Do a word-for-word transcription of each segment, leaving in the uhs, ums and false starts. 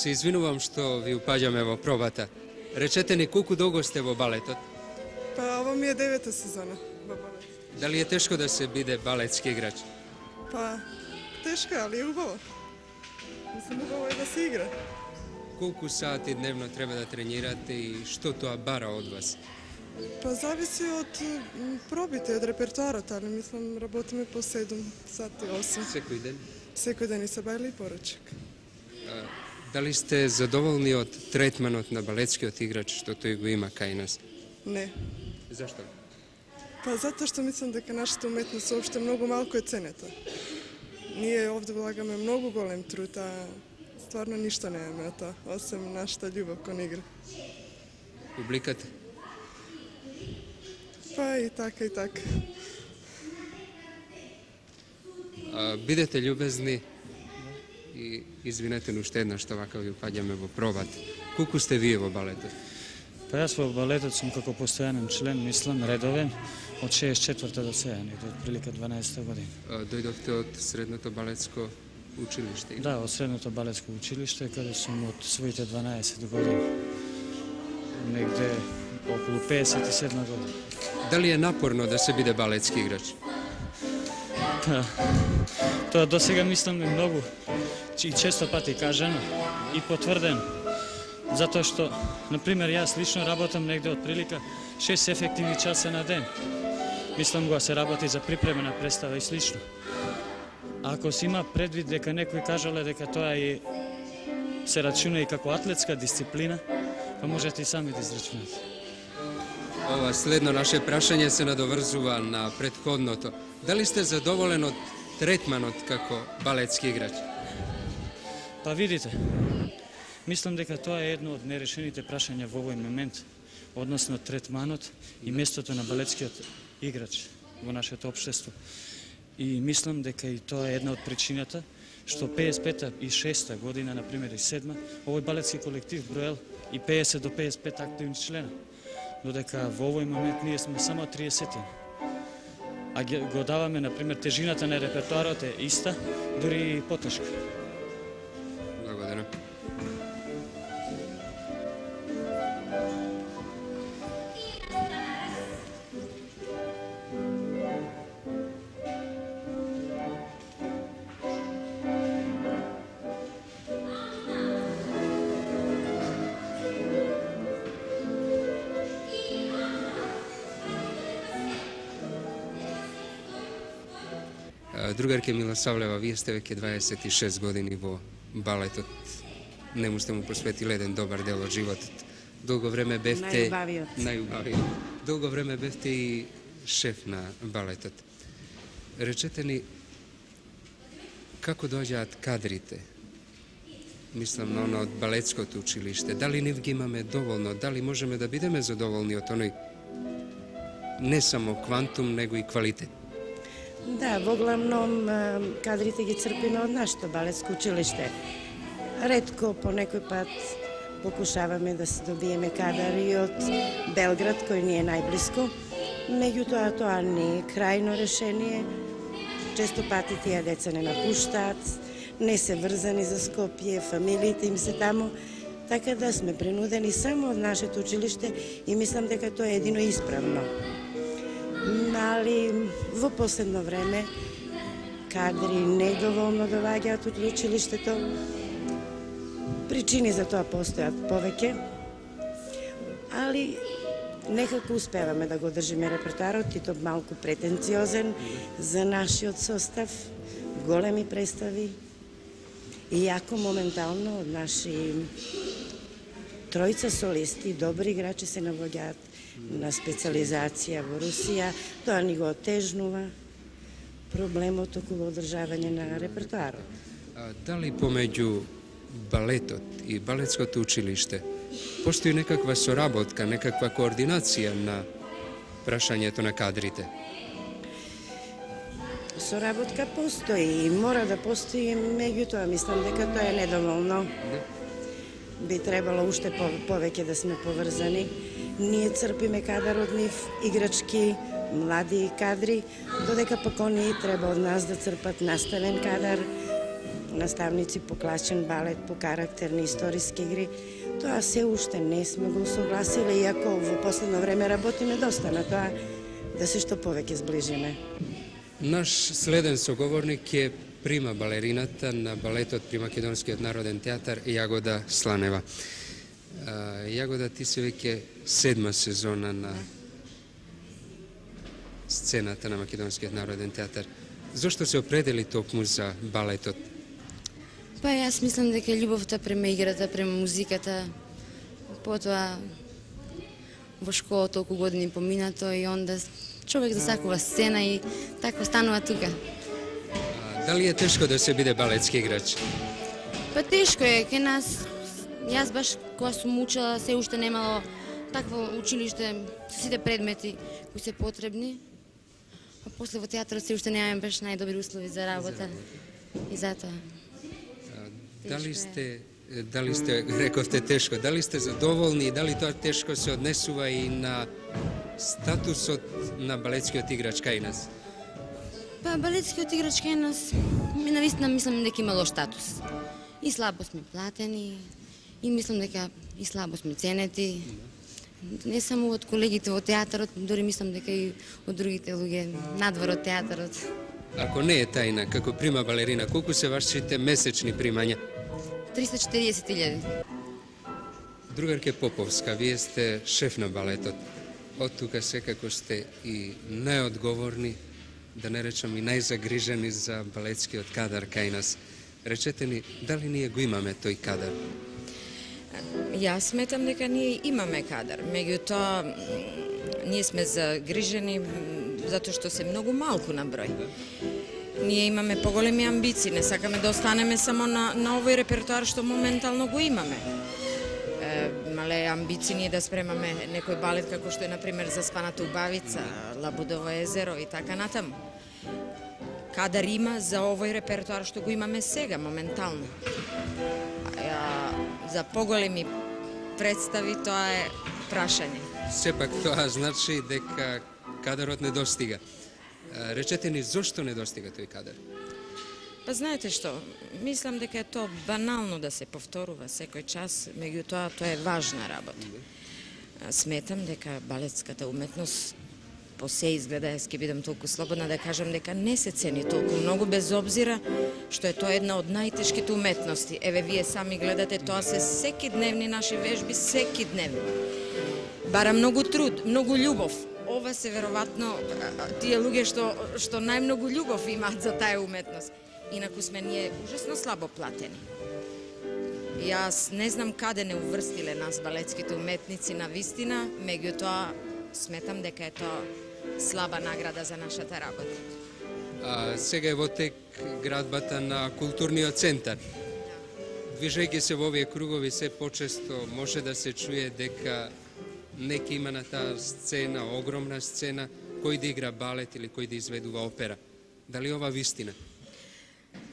Се извинувам што ви упаѓаме во пробата. Речете ни колку долго сте во балетот? Па ова ми е девета сезона во балет. Дали е тешко да се биде балетски играч? Па тешко, али е убаво. Мислам, убаво е да се игра. Колку сати дневно треба да тренирате и што тоа бара од вас? Па зависи од м, пробите, од репертуарот, али мислам работиме по седум сати, осум. Секој ден? Секој ден и сабајле и поручек. А, дали сте задоволни од третманот на балетскиот играч што тој го има кај нас? Не. Зашто? Па затоа што мислам дека нашата уметност уопште многу малку е ценета. Ние овде влагаме многу голем труд, а стварно ништо немаме од тоа, осем нашата љубов кон игра. Публиката? Па и така, и така. А, бидете љубезни и извинете но уште еднаш што вака ви упаѓаме во пробат. Колку сте вие во балетот? Па јас во балетот сум како постојанен член, мислам, редовен, од шеесет и четврта до сега, негде од прилика дванаесетта година. А, дојдовте од средното балетско училиште? Да, од средното балетско училиште, каде сум од своите дванаесет години. Негде околу пеесет и седма година. Дали е напорно да се биде балетски играч? Па, тоа до сега мислам е многу и често пати кажано и потврдено. Затоа што, например, јас лично работам негде од прилика шест ефективни часа на ден. Мислам го се работи за припремена представа и слично. А ако се има предвид дека некој кажале дека тоа е се рачуна и како атлетска дисциплина, па можете и сами да израчунате. Ова следно наше прашање се надоврзува на претходното. Дали сте задоволен од третманот како балетски играч? Па видите, мислам дека тоа е едно од нерешените прашања во овој момент, односно третманот и местото на балетскиот играч во нашето општество. И мислам дека и тоа е една од причината што пеесет и пета и шеста година, например и седма, овој балетски колектив броел и пеесет до пеесет и пет активни члена. Додека во овој момент ние сме само триесет. А го даваме, например, тежината на репертуарот е иста, дури и потешка. Благодарам. Другарке Милосавлева, вие сте веќе дваесет и шест години во балетот. Нему сте му посветили еден добар дел од животот. Долго време бевте... Најубавиот. Најубавиот. Долго време бевте и шеф на балетот. Речете ни, како доаѓаат кадрите? Мислам на оно од балетското училиште. Дали нив ги имаме доволно? Дали можеме да бидеме задоволни од оној не само квантум, него и квалитет? Да, во главном кадрите ги црпиме од нашето балетско училиште. Ретко по некој пат покушаваме да се добиеме кадар и од Белград, кој ни е најблиско. Меѓутоа, тоа не е крајно решение. Често пати тие деца не напуштаат, не се врзани за Скопје, фамилиите им се таму, така да сме принудени само од нашето училиште и мислам дека тоа е едино исправно. Али во последно време кадри недоволно доаѓаат од училиштето. Причини за тоа постојат повеќе, али некако успеваме да го држиме репертуарот и тоа малку претенциозен за нашиот состав, големи представи и јако моментално од наши тројца солисти, добри играчи се навоѓаат на специализација во Русија, тоа ни го отежнува проблемот околу одржавање на репертуарот. А, дали помеѓу балетот и балетското училиште постои некаква соработка, некаква координација на прашањето на кадрите? Соработка постои и мора да постои, меѓутоа мислам дека тоа е недоволно. Би требало уште повеќе да сме поврзани. Ние црпиме кадар од нив, играчки, млади кадри, додека пак оние треба од нас да црпат наставен кадар, наставници по класичен балет, по карактерни историски игри. Тоа се уште не сме го согласиле, иако во последно време работиме доста на тоа да се што повеќе сближиме. Наш следен соговорник е прима балерината на балетот при Македонскиот народен театар Јагода Сланева. Јагода, ти си веќе седма сезона на сцената на Македонскиот народен театар. Зошто се определи токму за балетот? Па јас мислам дека љубовта према играта, према музиката, потоа во школа толку години поминато и онда човек засакува сцена и така станува тука. А, дали е тешко да се биде балетски играч? Па тешко е, кај нас, јас баш кога сум учела, се уште немало такво училиште со сите предмети кои се потребни, а после во театарот се уште немаме баш најдобри услови за работа и затоа. Дали сте, дали сте, рековте тешко, дали сте задоволни и дали тоа тешко се однесува и на статусот на балетскиот играч кај нас? Па балетскиот играч кај нас, ми навистина мислам дека има лош статус. И слабо сме платени, и мислам дека и слабо сме ценети. Не само од колегите во театарот, дори мислам дека и од другите луѓе надвор од театарот. Ако не е тајна, како прима балерина, колку се вашите месечни примања? триста и четириесет илјади. Другарке Поповска, вие сте шеф на балетот. Од тука секако сте и најодговорни, да не речам и најзагрижени за балетскиот кадар кај нас. Речете ни, дали ние го имаме тој кадар? Јас сметам дека ние имаме кадар, меѓутоа ние сме загрижени затоа што се многу малку на број. Ние имаме поголеми амбиции, не сакаме да останеме само на, на овој репертоар што моментално го имаме. Е, мале амбиции ние да спремаме некој балет како што е, например, Заспаната убавица, Лабудово езеро и така натаму. Кадар има за овој репертоар што го имаме сега, моментално. А, за поголеми представи тоа е прашање. Сепак тоа значи дека кадарот не достига. Речете ни, зошто не достига тој кадар? Па знаете што, мислам дека е тоа банално да се повторува секој час, меѓутоа тоа е важна работа. Сметам дека балетската уметност по се изгледа, јас ќе бидам толку слободна да кажам дека не се цени толку многу, без обзира што е тоа една од најтешките уметности. Еве, вие сами гледате, тоа се секидневни наши вежби, секидневни. Бара многу труд, многу љубов. Ова се веројатно тие луѓе што што најмногу љубов имаат за таа уметност. Инаку сме ние ужасно слабо платени. Јас не знам каде не уврстиле нас балетските уметници на вистина, меѓутоа сметам дека е тоа слаба награда за нашата работа. А, сега е во тек градбата на културниот центар. Движејќи се во овие кругови се почесто може да се чуе дека неки има на таа сцена, огромна сцена, кој да игра балет или кој да изведува опера. Дали ова вистина?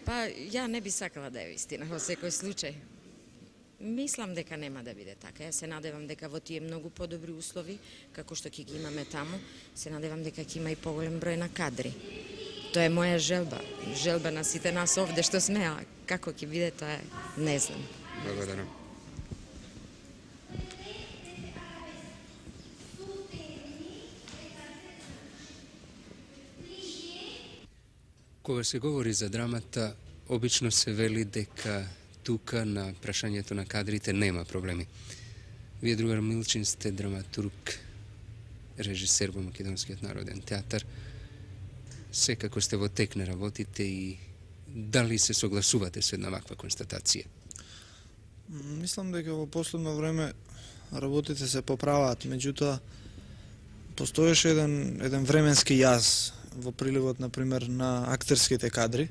Па, ја не би сакала да е вистина во секој случај. Мислам дека нема да биде така. Јас се надевам дека во тие многу подобри услови, како што ќе ги имаме таму, се надевам дека ќе има и поголем број на кадри. Тоа е моја желба, желба на сите нас овде што сме, а како ќе биде тоа е, не знам. Благодарам. Кога се говори за драмата, обично се вели дека тука на прашањето на кадрите нема проблеми. Вие, другар Милчин, сте драматург, режисер во Македонскиот народен театар. Секако сте во тек на работите и дали се согласувате со една ваква констатација? Мислам дека во последно време работите се поправаат, меѓутоа постоеше еден, еден временски јаз во приливот, например, на актерските кадри.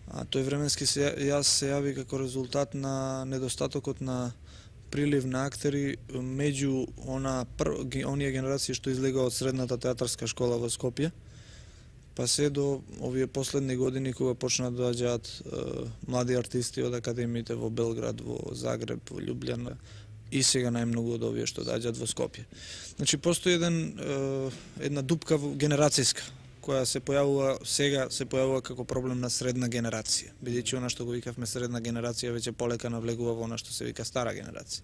А тој временски јаз се јави како резултат на недостатокот на прилив на актери меѓу она пр... оние генерации што излега од средната театарска школа во Скопје, па се до овие последни години кога почнаа да доаѓаат млади артисти од академиите во Белград, во Загреб, во Љубљана и сега најмногу од овие што доаѓаат во Скопје. Значи постои еден една дупка генерацијска која се појавува сега се појавува како проблем на средна генерација, бидејќи она што го викавме средна генерација веќе полека навлегува во она што се вика стара генерација.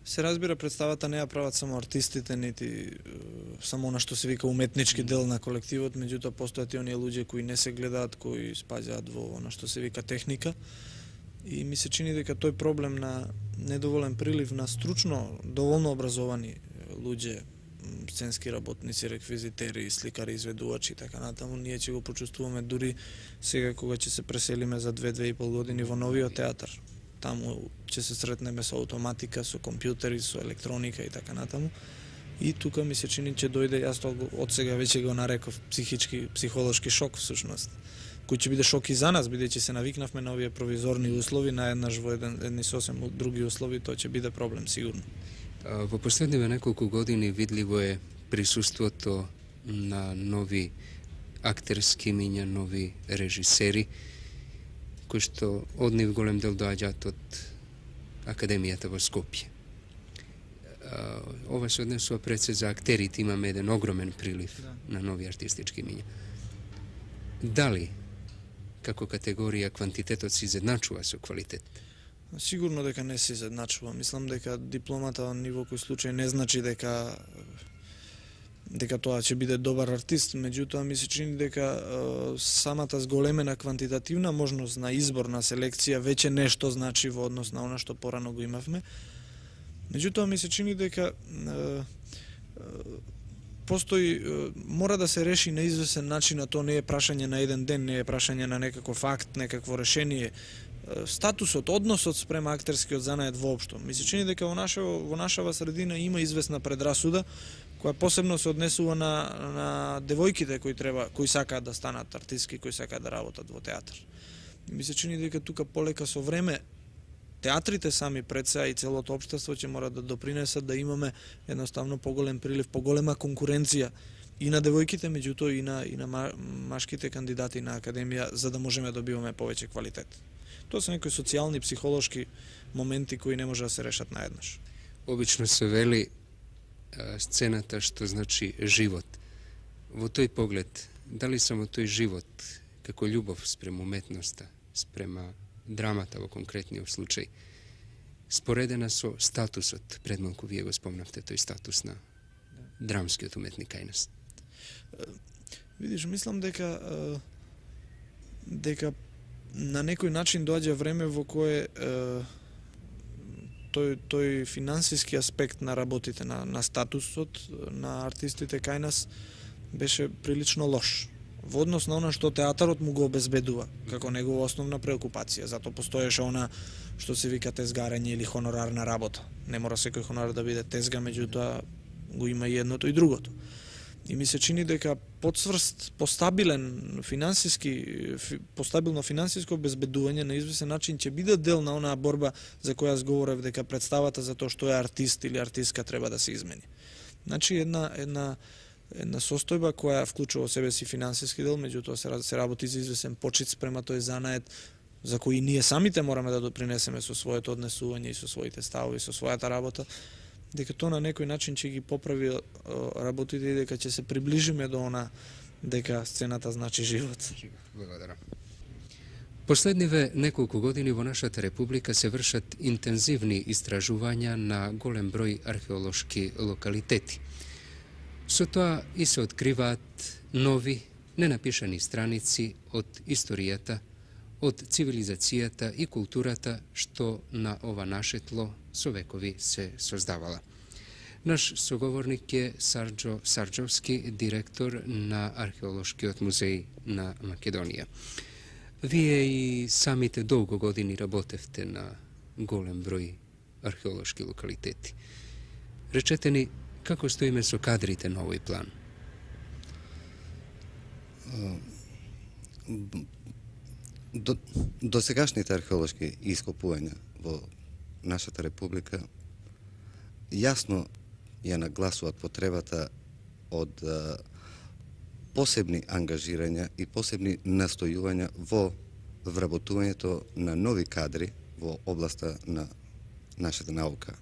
Се разбира, представата не ја прават само артистите, нити само она што се вика уметнички дел на колективот, меѓутоа постојат и оние луѓе кои не се гледаат, кои спаѓаат во она што се вика техника. И ми се чини дека тој проблем на недоволен прилив на стручно, доволно образовани луѓе, сценски работници, реквизитери, сликари, изведувачи и така натаму, ние ќе го почувствуваме дури сега кога ќе се преселиме за две-две и пол години во новиот театар. Таму ќе се сретнеме со автоматика, со компјутери, со електроника и така натаму. И тука ми се чини ќе дојде, јас тоа од сега веќе го нареков психички, психолошки шок всушност, кој ќе биде шок и за нас, бидејќи се навикнавме на овие провизорни услови, наеднаш во еден, едни сосем други услови, тоа ќе биде проблем сигурно. Во последниве неколку години видливо е присуството на нови актерски имиња, нови режисери, кои што од нив голем дел доаѓаат од Академијата во Скопје. Ова се однесува пред се за актерите, имаме еден огромен прилив да. на нови артистички имиња. Дали, како категорија, квантитетот се изедначува со квалитет? Сигурно дека не се изедначува. Мислам дека дипломата во ниво кој случај не значи дека дека тоа ќе биде добар артист, меѓутоа ми се чини дека е, самата зголемена квантитативна можност на избор на селекција веќе нешто значи во однос на она што порано го имавме. Меѓутоа ми се чини дека е, е, постои е, мора да се реши на извесен начин, а тоа не е прашање на еден ден, не е прашање на некаков акт, некакво решение. Статусот, односот спрема актерскиот занает воопшто. Ми се чини дека во наша во нашава средина има известна предрасуда која посебно се однесува на на девојките кои треба кои сакаат да станат артистки, кои сакаат да работат во театар. Ми се чини дека тука полека со време театрите сами пред се и целото општество ќе мора да допринесат да имаме едноставно поголем прилив, поголема конкуренција и на девојките, меѓутоа и на и на машките кандидати на академија, за да можеме да добиваме повеќе квалитет. Тоа се некои социјални, психолошки моменти кои не може да се решат наеднаш. Обично се вели а, сцената што значи живот. Во тој поглед, дали само тој живот, како љубов спрема уметноста, спрема драмата во конкретниот случај, споредена со статусот, пред малку вие го спомнавте тој статус на драмскиот уметник кај нас? Видиш, мислам дека дека на некој начин доаѓа време во кое е, тој, тој финансиски аспект на работите, на, на статусот на артистите кај нас беше прилично лош во однос на она што театарот му го обезбедува како негова основна преокупација. Зато постоеше она што се вика тезгарење или хонорарна работа. Не мора секој хонорар да биде тезга, меѓутоа го има и едното и другото. И ми се чини дека подсврст, постабилен финансиски, постабилно финансиско обезбедување на извесен начин ќе биде дел на онаа борба за која зговорев, дека представата за тоа што е артист или артистка треба да се измени. Значи една една една состојба која вклучува во себе си финансиски дел, меѓутоа се, се работи за извесен почит спрема тој занает за кој ние самите мораме да допринесеме со своето однесување и со своите ставови, со својата работа, дека тоа на некој начин ќе ги поправи работите и дека ќе се приближиме до она дека сцената значи живот. Благодарам. Последниве неколку години во нашата република се вршат интензивни истражувања на голем број археолошки локалитети. Со тоа и се откриваат нови, ненапишани страници од историјата, од цивилизацијата и културата што на ова наше тло со векови се создавала. Наш соговорник е Сарџо Сарџовски, директор на Археолошкиот музеј на Македонија. Вие и самите долго години работевте на голем број археолошки локалитети. Речете ни, како стоиме со кадрите на овој план? До, до сегашните археолошки ископувања во нашата република јасно ја нагласуваат потребата од а, посебни ангажирања и посебни настојувања во вработувањето на нови кадри во областа на нашата наука.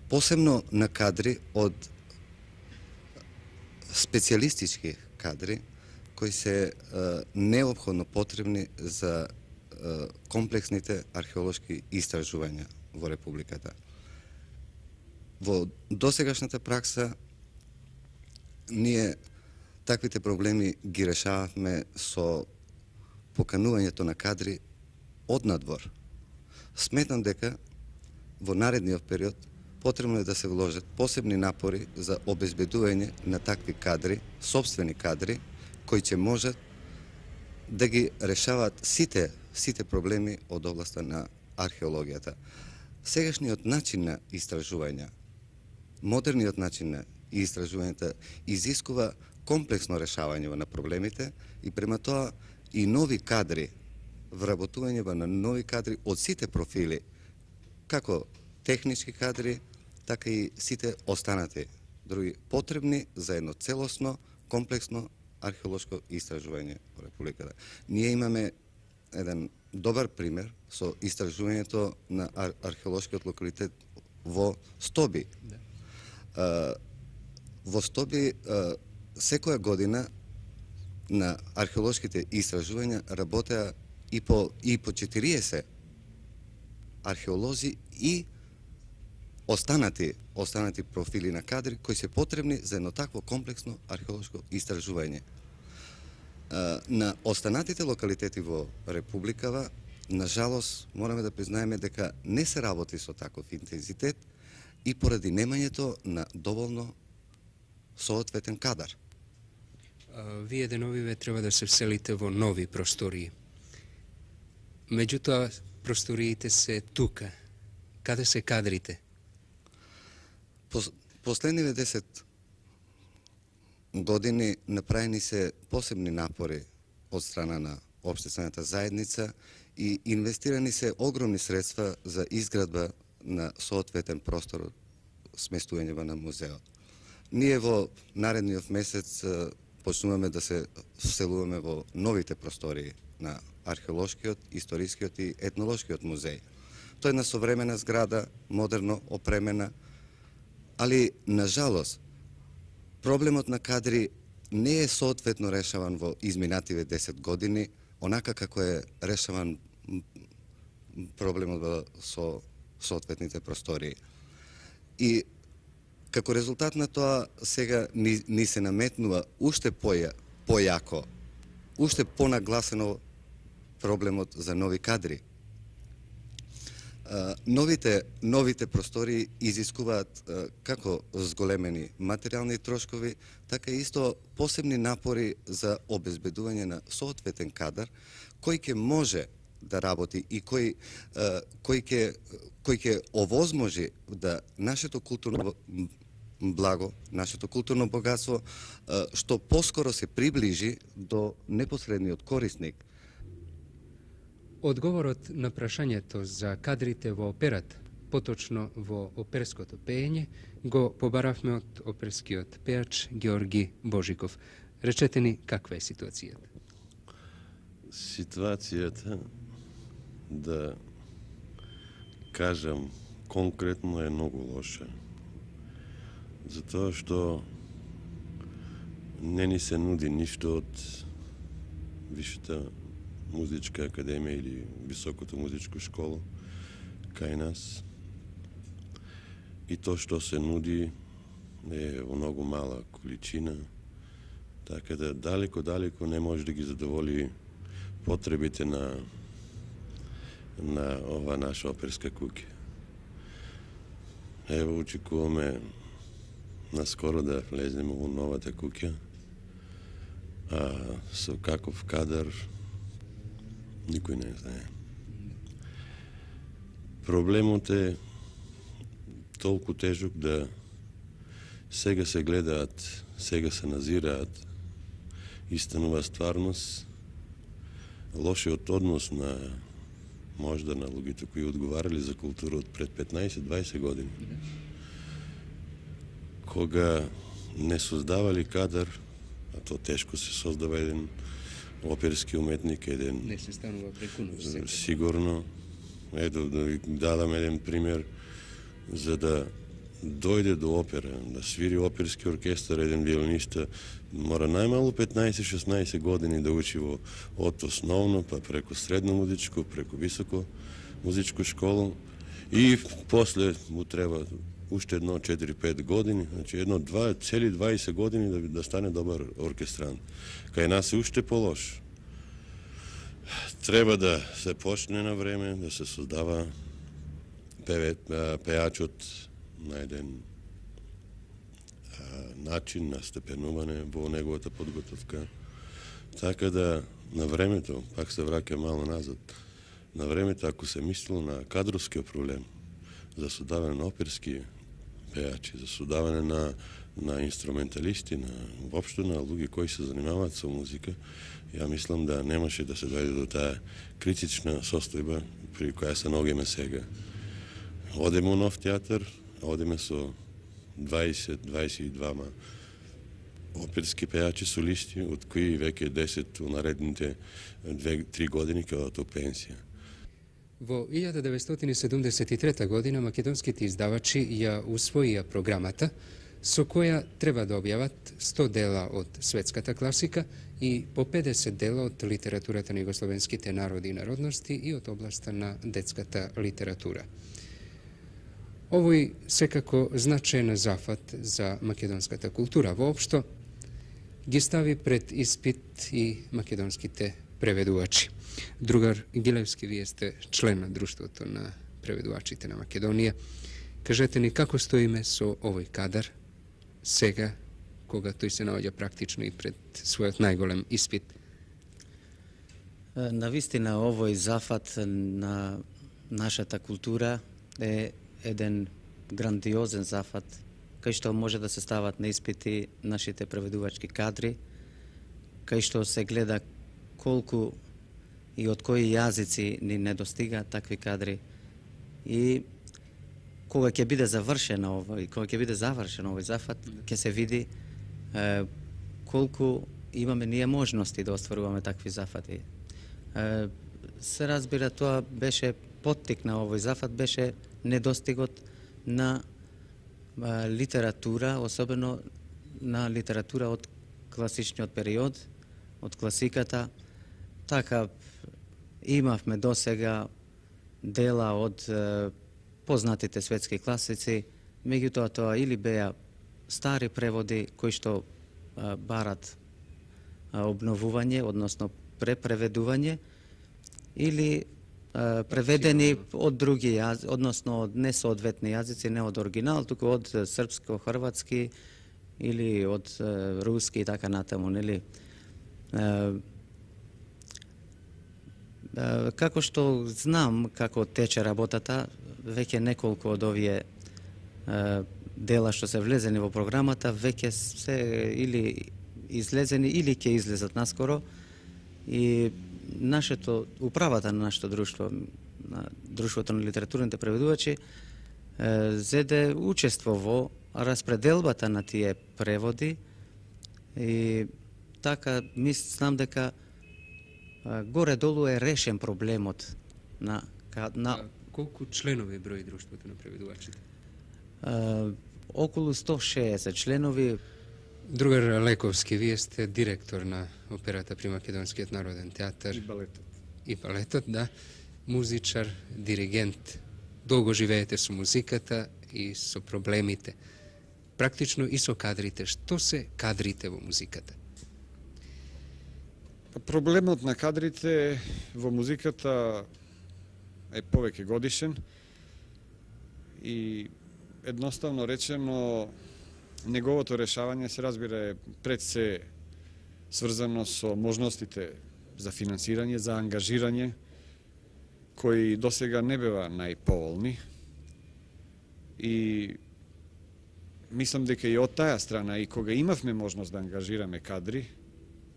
Посебно на кадри од специјалистички кадри кои се а, неопходно потребни за а, комплексните археолошки истражувања во републиката. Во досегашната пракса ние таквите проблеми ги решававме со поканувањето на кадри од надвор. Сметам дека во наредниот период потребно е да се вложат посебни напори за обезбедување на такви кадри, сопствени кадри, кои ќе можат да ги решаваат сите, сите проблеми од областа на археологијата. Сегашниот начин на истражување, модерниот начин на истражувањата изискува комплексно решавање на проблемите и према тоа и нови кадри, вработување на нови кадри од сите профили, како технички кадри, така и сите останати други потребни за едно целосно, комплексно археолошко истражување во републиката. Ние имаме еден добар пример со истражувањето на ар археолошкиот локалитет во Стоби. Да. Во Стоби секоја година на археолошките истражувања работеа и по и по четириесет археолози и останати останати профили на кадри кои се потребни за едно такво комплексно археолошко истражување. На останатите локалитети во републикава, на жалост, мораме да признаеме дека не се работи со таков интензитет и поради немањето на доволно соодветен кадар. Вие деновиве треба да се вселите во нови простории. Меѓутоа, просториите се тука. Каде се кадрите? Последниве десет години направени се посебни напори од страна на општествената заедница и инвестирани се огромни средства за изградба на соодветен простор сместување на музеот. Ние во наредниот месец почнуваме да се вселуваме во новите простории на археолошкиот, историскиот и етнолошкиот музеј. Тоа е една современа зграда, модерно опремена, али, на жалост, проблемот на кадри не е соодветно решаван во изминативе десет години, онака како е решаван проблемот со соодветните простории. И како резултат на тоа, сега ни, ни се наметнува уште поја, појако, уште понагласено проблемот за нови кадри. Новите, новите простори изискуваат како зголемени материјални трошкови, така и исто посебни напори за обезбедување на соодветен кадар, кој ќе може да работи и кој, кој ќе кој ќе овозможи да нашето културно благо, нашето културно богатство, што поскоро се приближи до непосредниот корисник. Одговорот на прашањето за кадрите во операта, поточно во оперското пеење, го побаравме од оперскиот пеач Георги Божиков. Речете ни каква е ситуацијата? Ситуацијата, да кажам конкретно, е многу лоша. Затоа што не ни се нуди ништо од Висшата музичка академија или Високото музичко школа кај нас. И тоа што се нуди е во многу мала количина, така да далеко-далеко не може да ги задоволи потребите на на ова наша оперска куќа. Ево, очекуваме наскоро да влеземе во новата куќа, а со каков кадар никој не знае. Проблемот е толку тежок да сега се гледаат, сега се назираат и станува стварност лошиот однос на можда на луѓето кои одговарали за култура од пред петнаесет-дваесет години. Кога не создавали кадар, а то тешко се создава еден оперски уметник, еден... Не се станува преку ноќ. Сигурно. Ето, да ви дадам еден пример, за да дојде до опера, да свири оперски оркестар, еден виолиниста, мора најмало петнаесет-шеснаесет години да учи во од основно, па преку средно музичко, преку високо музичко школу и после му треба уште едно четири-пет години, значи едно два, цели дваесет години да, да стане добар оркестрант. Кај нас е уште полош. Треба да се почне на време, да се создава певет, пејачот на еден а, начин на степенување во неговата подготовка. Така да на времето, пак се враќа мало назад, на времето ако се мислило на кадровскиот проблем, за создавање на оперски пејачи, за создавање на, на инструменталисти, на, воопшто на луѓе кои се занимаваат со музика, ја мислам да немаше да се дојде до таа критична состојба при која се наоѓаме сега. Одеме у нов театар, одеме со дваесет-дваесет и два оперски пејачи солисти, од кои веќе десет у наредните две-три години ќе одат у пенсија. Во илјада деветстотини седумдесет и трета година македонските издавачи ја усвоија програмата со која треба да објават сто дела од светската класика и по педесет дела од литературата на југословенските народи и народности и од областа на детската литература. Овој секако значаен зафат за македонската култура воопшто ги стави пред испит и македонските преведувачи. Другар Гилевски, вие сте член на Друштвото на преведувачите на Македонија. Кажете ни како стоиме со овој кадар сега, кога тој се наоѓа практично и пред својот најголем испит? Навистина овој зафат на нашата култура е еден грандиозен зафат, кај што може да се стават на испити нашите преведувачки кадри, кај што се гледа колку и од кои јазици ни недостига такви кадри. И кога ќе биде завршено овој, кога ќе биде завршен овој зафат, ќе се види е, колку имаме ние можности да остваруваме такви зафати. Е, се разбира, тоа беше поттик на овој зафат, беше недостигот на е, литература, особено на литература од класичниот период, од класиката. Така имавме досега дела од е, познатите светски класици, меѓутоа тоа или беа стари преводи кои што а, барат а, обновување, односно препреведување, или а, преведени од други јазици, односно од несоодветни јазици, не од оригинал, туку од српско, хрватски или од а, руски и така натаму, нели? А, а, како што знам како тече работата, веќе неколку од овие е, дела што се влезени во програмата, веќе се или излезени или ќе излезат наскоро. И нашето, управата на нашето друштво, на Друштвото на литературните преведувачи, е, зеде учество во распределбата на тие преводи и така мислам дека е, горе-долу е решен проблемот на, на Колку членови брои Друштвото на преведувачите? Uh, околу сто шеесет членови. Другар Лековски, вие сте директор на операта при Македонскиот народен театар. И балетот. И балетот, да. Музичар, диригент. Долго живеете со музиката и со проблемите. Практично и со кадрите. Што се кадрите во музиката? Проблемот на кадрите во музиката е повеќе годишен и едноставно речено неговото решавање се разбира е пред се сврзано со можностите за финансирање, за ангажирање кои досега не беа најповолни и мислам дека и од таа страна и кога имавме можност да ангажираме кадри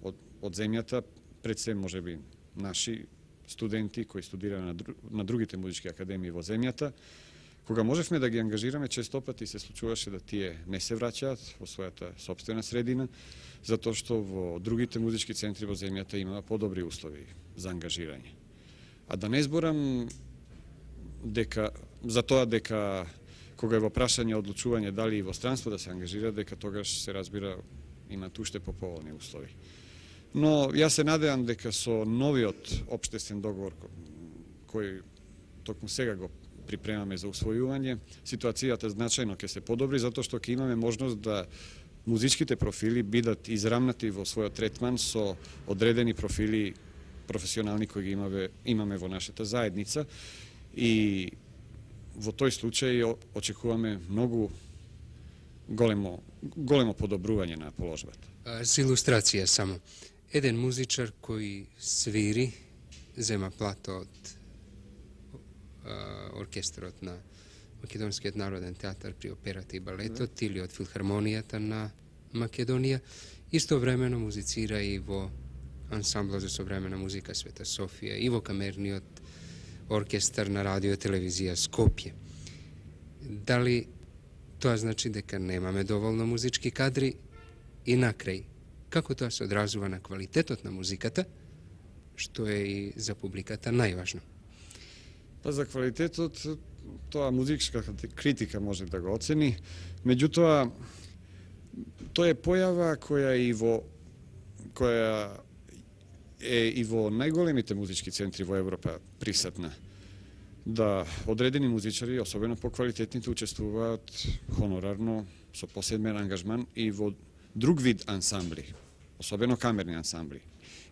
од, од земјата, пред се можеби наши студенти кои студираат на, дру, на другите музички академии во земјата. Кога можевме да ги ангажираме, често пати се случуваше да тие не се враќаат во својата собствена средина, затоа што во другите музички центри во земјата има подобри услови за ангажирање. А да не зборам дека за тоа дека кога е во прашање одлучување дали и во странство да се ангажира, дека тогаш се разбира имаат уште поповолни услови. Но јас се надевам дека со новиот општествен договор кој токму сега го припремаме за усвојување, ситуацијата значајно ќе се подобри, затоа што ќе имаме можност да музичките профили бидат израмнати во својот третман со одредени профили професионални кои ги имаме, имаме во нашата заедница и во тој случај очекуваме многу големо, големо подобрување на положбата. За илустрација само. Еден музичар кој свири, зема плата од оркестрот на Македонскиот народен театар при операта и балетот mm. или од филхармонијата на Македонија, истовремено музицира и во ансамбла за современа музика Света Софија и во камерниот оркестар на радио и телевизија Скопје. Дали тоа значи дека немаме доволно музички кадри и накрај, како тоа се одразува на квалитетот на музиката, што е и за публиката најважно? Па за квалитетот, тоа музичка критика може да го оцени, меѓутоа тоа е појава која и во која е и во најголемите музички центри во Европа присатна. Да одредени музичари, особено поквалитетните, учествуваат хонорарно со посебен ангажман и во друг вид ансамбли, особено камерни ансамбли,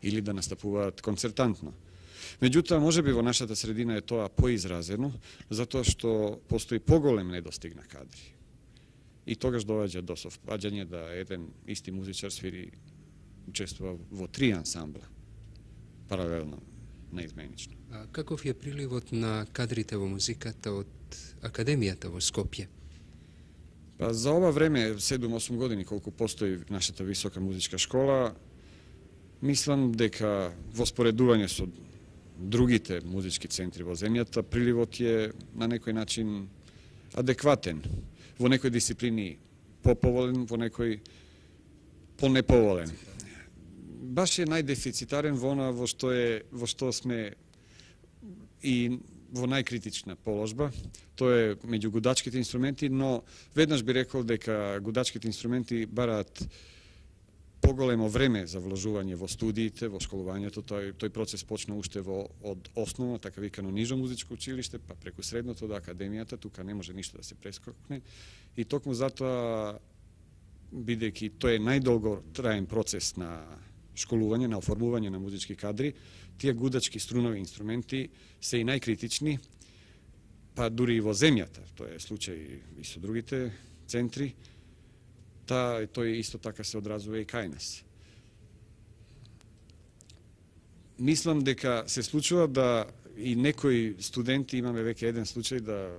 или да настапуваат концертантно. Меѓутоа, можеби во нашата средина е тоа поизразено, затоа што постои поголем недостиг на кадри. И тогаш доаѓа до совпаѓање да еден исти музичар свири, учествува во три ансамбла, паралелно, неизменично. А каков е приливот на кадрите во музиката од Академијата во Скопје? Па за ова време, седум-осум години колку постои нашата висока музичка школа, мислам дека во споредување со другите музички центри во земјата, приливот е на некој начин адекватен. Во некои дисциплини поповолен, во некои понеповолен. Баш е најдефицитарен во она во што е во што сме и во најкритична положба. Тоа е меѓу гудачките инструменти, но веднаш би рекол дека гудачките инструменти бараат поголемо време за вложување во студиите, во школувањето. Тој, тој процес почна уште во, од основно, така викано нижо музичко училиште, па преку средното до академијата, тука не може ништо да се прескокне. И токму затоа, бидејќи тој е најдолго траен процес на школување, на оформување на музички кадри, тие гудачки струнови инструменти се и најкритични, па дури и во земјата. Тоа е случај и со другите центри. Та, тој исто така се одразува и кај нас. Мислам дека се случува да и некои студенти, имаме веќе еден случај да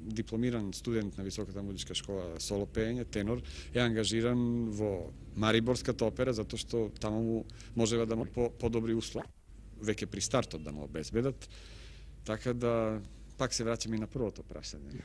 дипломиран студент на Високата музичка школа соло пеење, тенор, е ангажиран во Мариборската опера, затоа што таму му можева да му по, подобри услови, веќе при стартот да му обезбедат. Така да, пак се враќаме и на првото прашање.